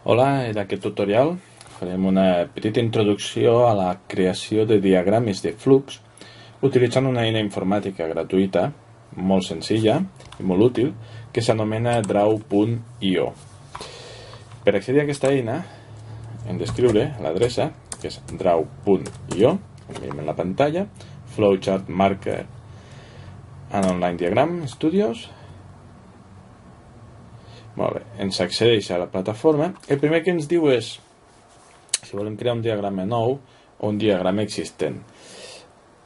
Hola, en aquest tutorial farem una petita introducció a la creació de diagrames de flux utilitzant una eina informàtica gratuïta, molt senzilla i molt útil, que s'anomena Draw.io. Per accedir a aquesta eina hem d'escriure l'adreça, que és Draw.io, com veiem en la pantalla, Flowchart Marker and Online Diagram Studios. Molt bé, ens accedeix a la plataforma. El primer que ens diu és si volem crear un diagrama nou o un diagrama existent.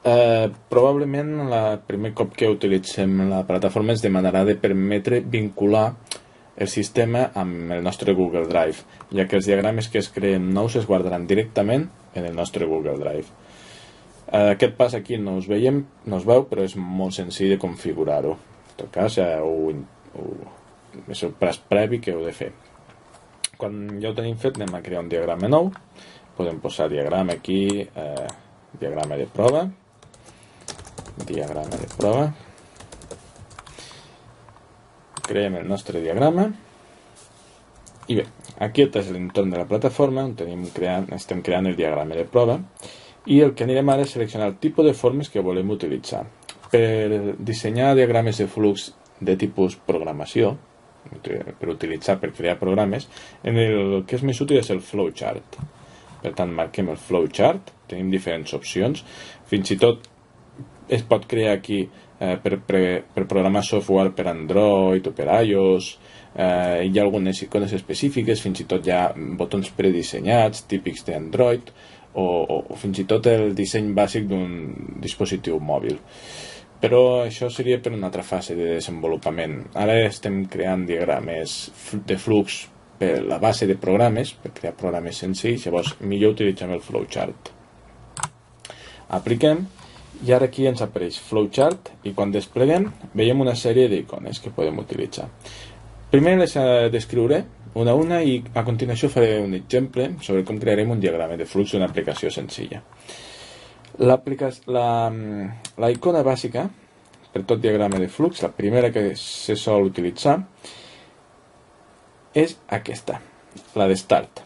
Probablement el primer cop que utilitzem la plataforma ens demanarà de permetre vincular el sistema amb el nostre Google Drive, ja que els diagrames que es creen nous es guardaran directament en el nostre Google Drive. Aquest pas aquí no es veu, però és molt senzill de configurar-ho. En tot cas, és el pas previ que heu de fer. Quan ja ho tenim fet, anem a crear un diagrama nou. Podem posar diagrama aquí, diagrama de prova, creem el nostre diagrama i bé, aquest és l'entorn de la plataforma on estem creant el diagrama de prova, i el que anirem ara és seleccionar el tipus de formes que volem utilitzar. Per dissenyar diagrames de flux de tipus programació, per crear programes, el que és més útil és el flowchart. Per tant, marquem el flowchart, tenim diferents opcions, fins i tot es pot crear aquí per programar software per Android o per iOS. Hi ha algunes icones específiques, fins i tot hi ha botons predissenyats típics d'Android, o fins i tot el disseny bàsic d'un dispositiu mòbil. Però això seria per una altra fase de desenvolupament. Ara estem creant diagrames de flux per la base de programes, per crear programes senzills, llavors millor utilitzem el flowchart. Apliquem, i ara aquí ens apareix flowchart, i quan despleguem veiem una sèrie d'icones que podem utilitzar. Primer les descriuré una a una i a continuació faré un exemple sobre com crearem un diagrama de flux d'una aplicació senzilla. La icona bàsica per tot diagrama de flux, la primera que se sol utilitzar, és aquesta, la de Start.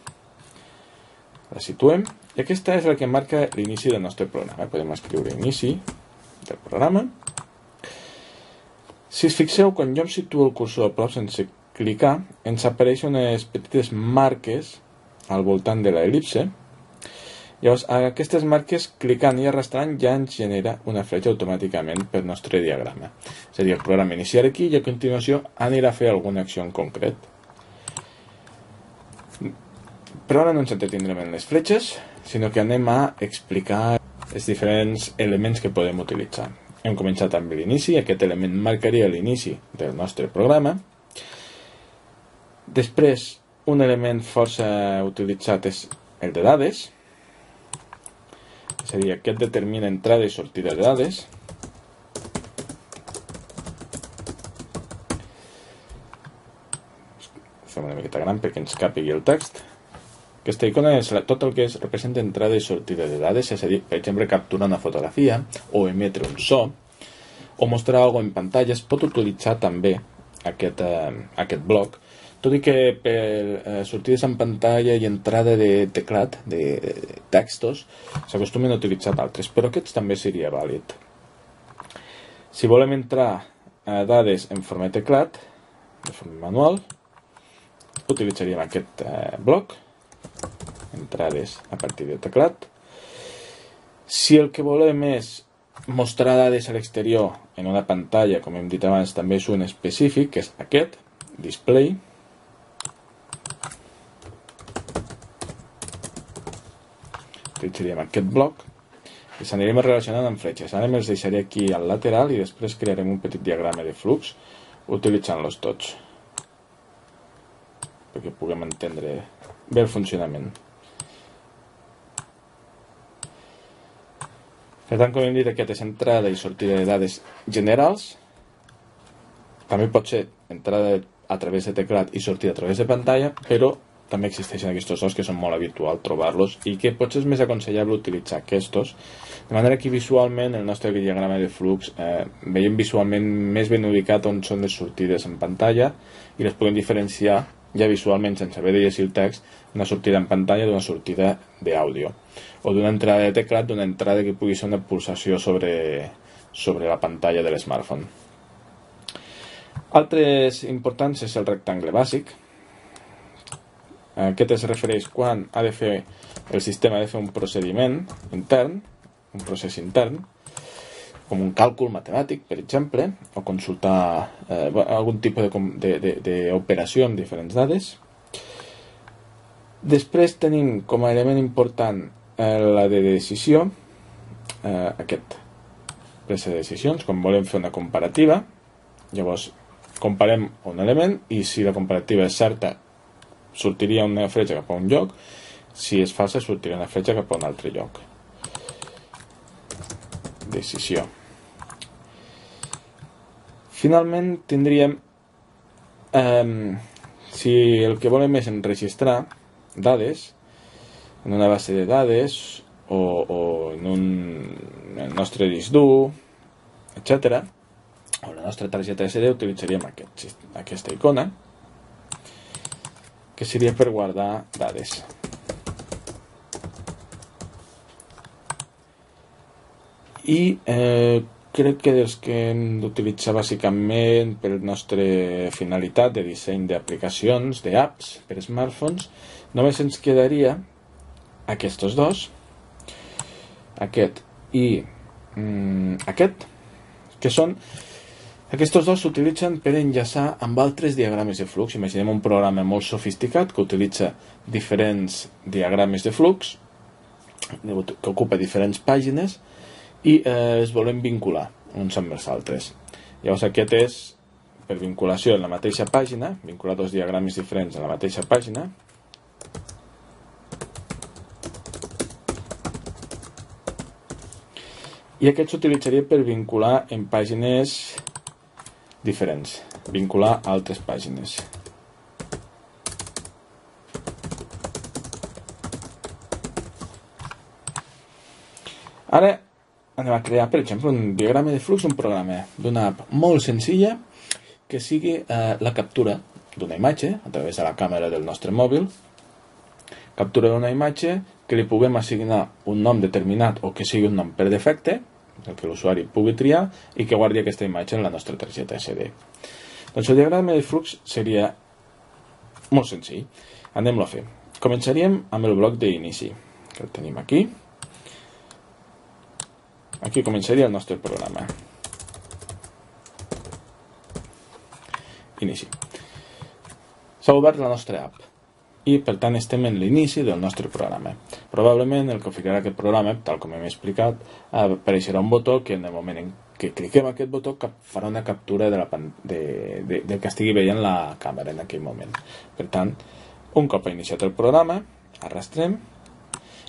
La situem, i aquesta és la que marca l'inici del nostre programa. Podem escriure inici del programa. Si us fixeu, quan jo em situo el cursor a prop sense clicar, ens apareixen unes petites marques al voltant de l'el·lipse. Llavors, aquestes marques, clicant i arrastrant, ja ens genera una fletxa automàticament pel nostre diagrama. És a dir, el programa iniciarà aquí i a continuació anirà a fer alguna acció en concret. Però ara no ens entretindrem en les fletxes, sinó que anem a explicar els diferents elements que podem utilitzar. Hem començat amb l'inici, aquest element marcaria l'inici del nostre programa. Després, un element força utilitzat és el de dades, és a dir, aquest determina entrada i sortida de dades. Fem una miqueta gran perquè ens càpigui el text. Aquesta icona és tot el que representa entrada i sortida de dades, és a dir, per exemple, capturar una fotografia o emetre un so o mostrar alguna cosa en pantalla. Es pot utilitzar també aquest bloc, tot i que per sortides en pantalla i entrada de teclat, de textos, s'acostumen a utilitzar d'altres, però aquests també seria vàlid. Si volem entrar a dades en format teclat, de forma manual, utilitzaríem aquest bloc, entrades a partir de teclat. Si el que volem és mostrar dades a l'exterior en una pantalla, com hem dit abans, també és un específic, que és aquest, display. Utilitzaríem aquest bloc i s'anirem relacionant amb fletxes. Ara me'ls deixaré aquí al lateral i després crearem un petit diagrama de flux utilitzant-los tots perquè puguem entendre bé el funcionament. Per tant, com hem dit, aquest és entrada i sortida de dades generals. També pot ser entrada a través de teclat i sortida a través de pantalla, però també existeixen aquests dos que són molt habitual trobar-los i que potser és més aconsellable utilitzar aquests, de manera que visualment el nostre diagrama de flux veiem visualment més ben ubicat on són les sortides en pantalla i les podem diferenciar ja visualment, sense haver de llegir el text, una sortida en pantalla d'una sortida d'àudio, o d'una entrada de teclat, d'una entrada que pugui ser una pulsació sobre la pantalla de l'smartphone. Altres importants és el rectangle bàsic. Aquest es refereix quan el sistema ha de fer un procediment intern, un procés intern, com un càlcul matemàtic, per exemple, o consultar algun tipus d'operació amb diferents dades. Després tenim com a element important la de decisió, aquest presa de decisions, quan volem fer una comparativa. Llavors comparem un element i si la comparativa és certa sortiria una fletxa cap a un lloc, si és falsa sortiria una fletxa cap a un altre lloc. Decisió. Finalment tindríem, si el que volem és enregistrar dades en una base de dades o en el nostre disc dur, etc., o la nostra targeta SD, utilitzaríem aquesta icona, que seria per guardar dades. I crec que dels que hem d'utilitzar bàsicament per la nostra finalitat de disseny d'aplicacions, d'apps per smartphones, només ens quedaria aquests dos, aquest i aquest, que són aquests dos s'utilitzen per enllaçar amb altres diagrames de flux. Imaginem un programa molt sofisticat que utilitza diferents diagrames de flux, que ocupa diferents pàgines, i es volen vincular uns amb els altres. Llavors aquest és per vinculació en la mateixa pàgina, vincular dos diagrames diferents en la mateixa pàgina. I aquest s'utilitzaria per vincular en pàgines diferents, vincular a altres pàgines. Ara anem a crear, per exemple, un diagrama de flux d'un programa, d'una app molt senzilla que sigui la captura d'una imatge a través de la càmera del nostre mòbil, captura d'una imatge que li puguem assignar un nom determinat o que sigui un nom per defecte, el que l'usuari pugui triar, i que guardi aquesta imatge en la nostra targeta SD. Doncs el diagrama de flux seria molt senzill. Anem-lo a fer. Començaríem amb el bloc d'inici, que el tenim aquí. Aquí començaria el nostre programa. Inici. S'ha obert la nostra app i per tant estem en l'inici del nostre programa. Probablement el que oferirà aquest programa, tal com hem explicat, apareixerà un botó que en el moment en què cliquem aquest botó farà una captura del que estigui veient la càmera en aquell moment. Per tant, un cop ha iniciat el programa, arrastrem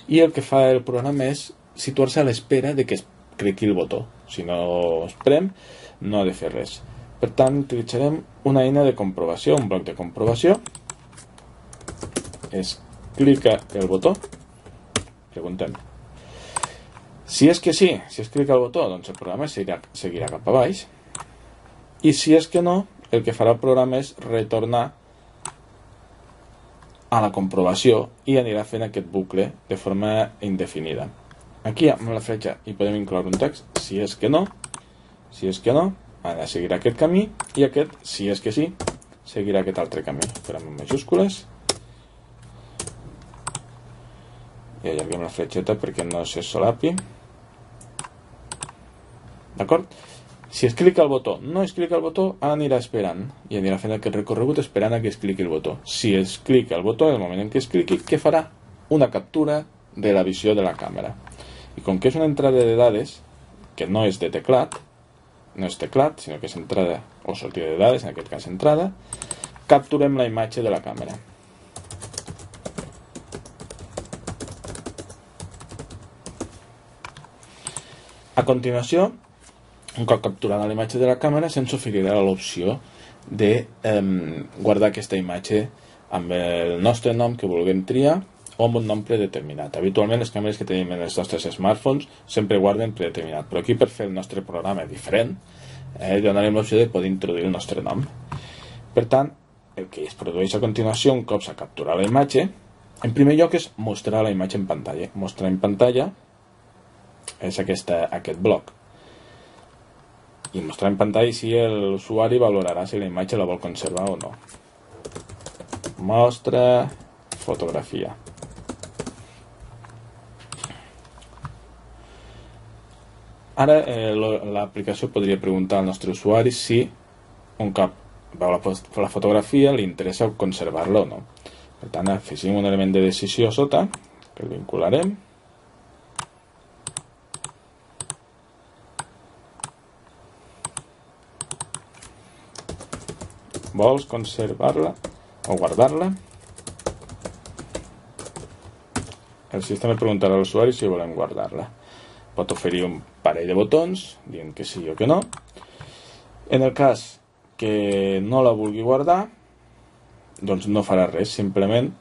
i el que fa el programa és situar-se a l'espera de que es cliqui el botó. Si no es prem, no ha de fer res. Per tant, utilitzarem una eina de comprovació, un bloc de comprovació. Es clica el botó, preguntem. Si és que sí, si es clica el botó, doncs el programa seguirà cap a baix. I si és que no, el que farà el programa és retornar a la comprovació i anirà fent aquest bucle de forma indefinida. Aquí amb la fletxa hi podem incloure un text, si és que no, ara seguirà aquest camí, i aquest, si és que sí, seguirà aquest altre camí. Farem en majúscules i allarguem la fletxeta perquè no se solapi. D'acord? Si es clica el botó, no es clica el botó, anirà esperant i anirà fent aquest recorregut esperant a que es cliqui el botó. Si es clica el botó, en el moment en què es cliqui, què farà? Una captura de la visió de la càmera. I com que és una entrada de dades que no és de teclat, no és teclat, sinó que és entrada o sortida de dades, en aquest cas entrada, capturem la imatge de la càmera. A continuació, un cop capturada la imatge de la càmera, se'ns oferirà l'opció de guardar aquesta imatge amb el nostre nom que vulguem triar o amb un nom predeterminat. Habitualment les càmeres que tenim en els nostres smartphones sempre guarden predeterminat, però aquí per fer el nostre programa diferent donarem l'opció de poder introduir el nostre nom. Per tant, el que es produeix a continuació un cop s'ha capturat la imatge, en primer lloc és mostrar la imatge en pantalla. Mostrar en pantalla és aquest bloc. I mostrar en pantalla si l'usuari valorarà si la imatge la vol conservar o no. Mostra fotografia. Ara l'aplicació podria preguntar al nostre usuari si un cop veu la fotografia li interessa conservar-la o no. Per tant, afegim un element de decisió a sota, que el vincularem. Vols conservar-la o guardar-la? El sistema preguntarà a l'usuari si volem guardar-la. Pot oferir un parell de botons, dient que sí o que no. En el cas que no la vulgui guardar, doncs no farà res, simplement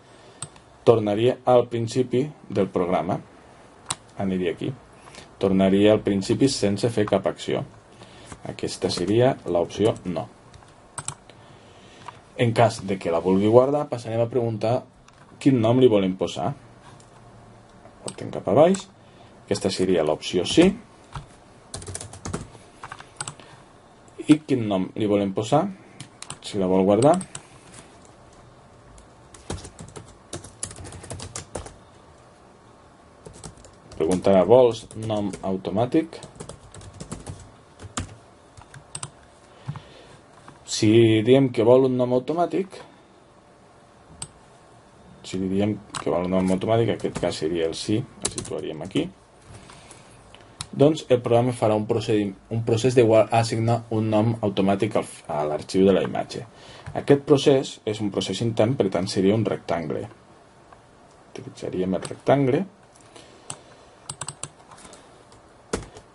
tornaria al principi del programa. Aniria aquí. Tornaria al principi sense fer cap acció. Aquesta seria l'opció no. En cas de que la vulgui guardar, passarem a preguntar quin nom li volem posar. Portem cap a baix. Aquesta seria l'opció sí. I quin nom li volem posar, si la vol guardar. Preguntarà, vols nom automàtic? Si diem que vol un nom automàtic, en aquest cas seria el sí, el situaríem aquí. Doncs el programa farà un procés d'assignar un nom automàtic a l'arxiu de la imatge. Aquest procés és un procés intern, per tant seria un rectangle. Utilitzaríem el rectangle.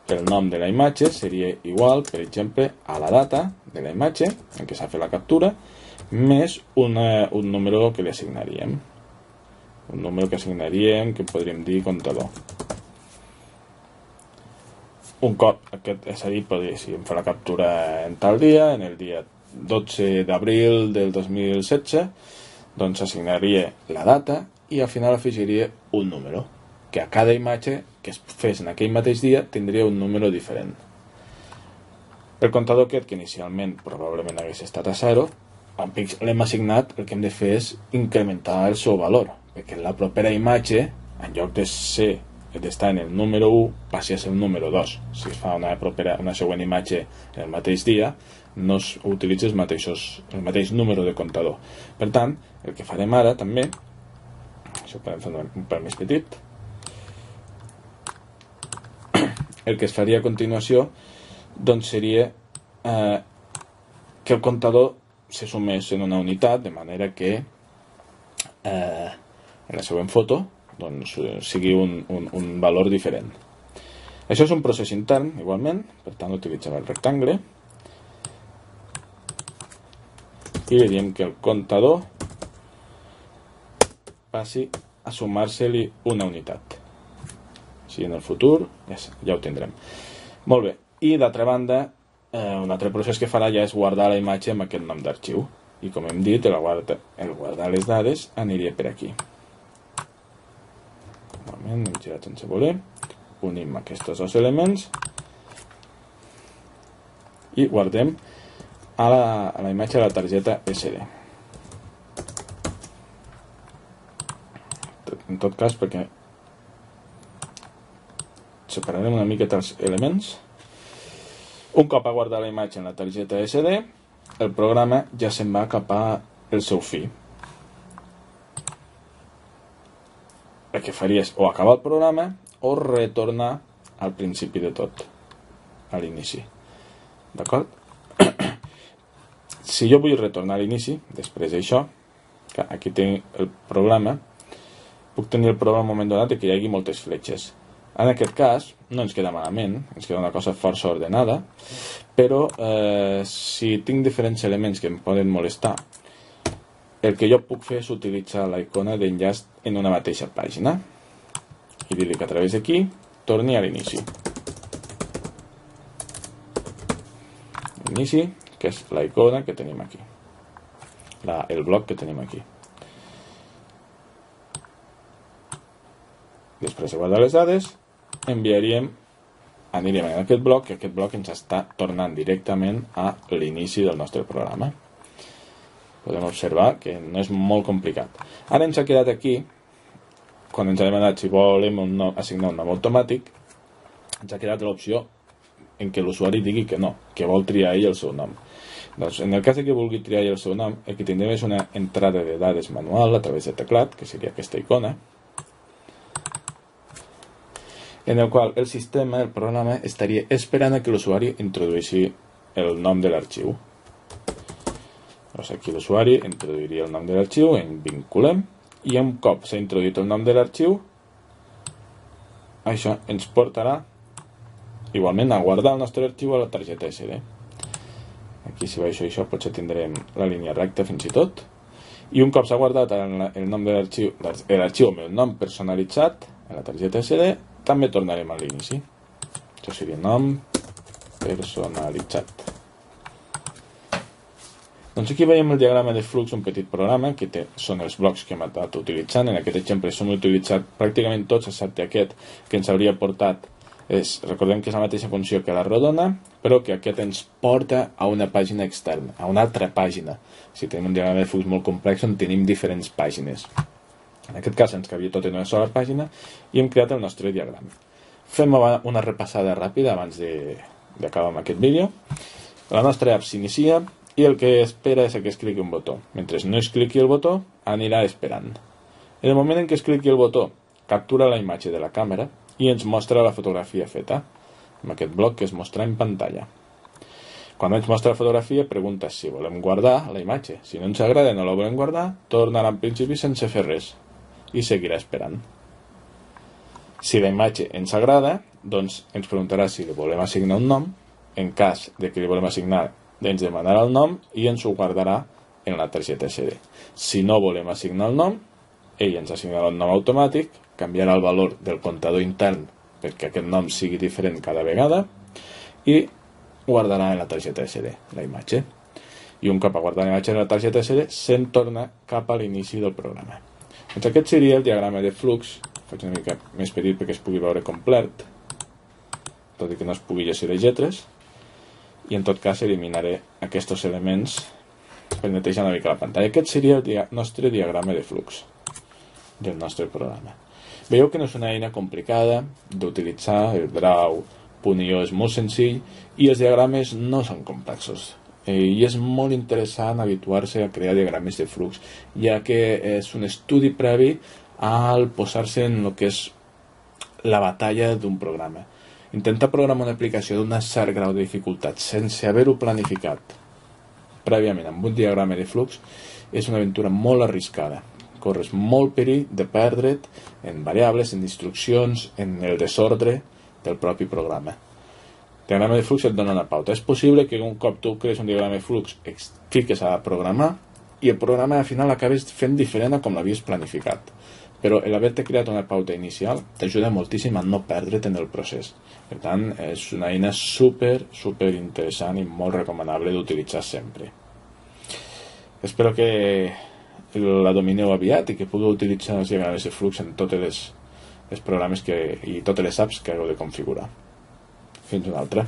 El nom de la imatge seria igual, per exemple, a la data de la imatge en què s'ha fet la captura, més un número que li assignaríem. Un número que assignaríem, que podríem dir comptador. Un cop, és a dir, si em fa la captura en tal dia, en el dia 12 d'abril del 2016, doncs assignaria la data i al final afegiria un número, que a cada imatge que es fes en aquell mateix dia tindria un número diferent. El comptador aquest, que inicialment probablement hagués estat a 0, l'hem assignat, el que hem de fer és incrementar el seu valor, perquè la propera imatge, en lloc d'estar en el número 1, passi a ser el número 2. Si es fa una següent imatge en el mateix dia, no s'utilitza el mateix número de comptador. Per tant, el que farem ara també, això ho podem fer un pèl més petit, el que es faria a continuació doncs seria que el comptador se sumés en una unitat, de manera que en la següent foto doncs sigui un valor diferent. Això és un procés intern, igualment, per tant utilitzem el rectangle i veiem que el comptador passi a sumar-se-li una unitat. Així en el futur ja ho tindrem. Molt bé, i d'altra banda, un altre procés que farà ja és guardar la imatge amb aquest nom d'arxiu. I com hem dit, el guardar les dades aniria per aquí. Hem girat sense voler, unim aquests dos elements i guardem a la imatge de la targeta SD. En tot cas, perquè separarem una miqueta els elements. Un cop ha guardat la imatge en la targeta SD, el programa ja se'n va cap al seu fi. El que faria és o acabar el programa o retornar al principi de tot, a l'inici. D'acord? Si jo vull retornar a l'inici, després d'això, aquí tinc el programa, puc tenir el programa en un moment donat que hi hagi moltes fletxes. En aquest cas, no ens queda malament, ens queda una cosa força ordenada, però si tinc diferents elements que em poden molestar, el que jo puc fer és utilitzar la icona d'enllaç en una mateixa pàgina i dir-li que a través d'aquí torni a l'inici. L'inici, que és la icona que tenim aquí. el bloc que tenim aquí. Després de guardar les dades, anirem a aquest bloc, que aquest bloc ens està tornant directament a l'inici del nostre programa. Podem observar que no és molt complicat. Ara ens ha quedat aquí, quan ens ha demanat si volem assignar un nom automàtic, ens ha quedat l'opció en què l'usuari digui que no, que vol triar ell el seu nom. Doncs, en el cas que vulgui triar ell el seu nom, el que tindrem és una entrada de dades manual a través de teclat, que seria aquesta icona, en el qual el sistema, el programa, estaria esperant a que l'usuari introdueixi el nom de l'arxiu. Doncs aquí l'usuari introduiria el nom de l'arxiu, en vinculem, i un cop s'ha introduït el nom de l'arxiu, això ens portarà igualment a guardar el nostre arxiu a la targeta SD. Aquí si baixo això potser tindrem la línia recta fins i tot. I un cop s'ha guardat el nom de l'arxiu, amb el nom personalitzat a la targeta SD, també tornarem a l'inici. Això seria nom personalitzat. Doncs aquí veiem el diagrama de flux, un petit programa que són els blocs que hem estat utilitzant. En aquest exemple s'han utilitzat pràcticament tots, excepte aquest que ens hauria portat. Recordem que és la mateixa funció que la rodona, però que aquest ens porta a una pàgina externa, a una altra pàgina. Si tenim un diagrama de flux molt complex on tenim diferents pàgines. En aquest cas ens cabia tot en una sola pàgina i hem creat el nostre diagrama. Fem una repassada ràpida abans d'acabar amb aquest vídeo. La nostra app s'inicia i el que espera és que es cliqui un botó. Mentre no es cliqui el botó, anirà esperant. En el moment en què es cliqui el botó, captura la imatge de la càmera i ens mostra la fotografia feta, amb aquest bloc que es mostra en pantalla. Quan ens mostra la fotografia, pregunta si volem guardar la imatge. Si no ens agrada i no la volem guardar, tornarà en principi sense fer res i seguirà esperant. Si la imatge ens agrada, doncs ens preguntarà si li volem assignar un nom. En cas de que li volem assignar, ens demanarà el nom i ens ho guardarà en la targeta SD. Si no volem assignar el nom, ell ens assignarà un nom automàtic, canviarà el valor del comptador intern perquè aquest nom sigui diferent cada vegada i guardarà en la targeta SD la imatge. I un cop ha guardat la imatge en la targeta SD, se'n torna cap a l'inici del programa. Doncs aquest seria el diagrama de flux. Faig una mica més petit perquè es pugui veure complet, tot i que no es pugui llegir les lletres. I en tot cas eliminaré aquests elements per netejar una mica la pantalla. Aquest seria el nostre diagrama de flux del nostre programa. Veieu que no és una eina complicada d'utilitzar, el Draw.io és molt senzill i els diagrames no són complexos. I és molt interessant habituar-se a crear diagrames de flux, ja que és un estudi previ al posar-se en el que és la batalla d'un programa. Intentar programar una aplicació d'un cert grau de dificultat sense haver-ho planificat prèviament amb un diagrama de flux és una aventura molt arriscada. Corres molt perill de perdre't en variables, en instruccions, en el desordre del propi programa. El diagrama de flux et dona una pauta. És possible que un cop tu crees un diagrama de flux et fiques a programar i el programa al final acabes fent diferent a com l'havies planificat. Però l'haver-te creat una pauta inicial t'ajuda moltíssim a no perdre't en el procés. Per tant, és una eina super interessant i molt recomanable d'utilitzar sempre. Espero que la domineu aviat i que pugueu utilitzar els diagrames de flux en tots els programes i totes les apps que hagueu de configurar. Fins una altra.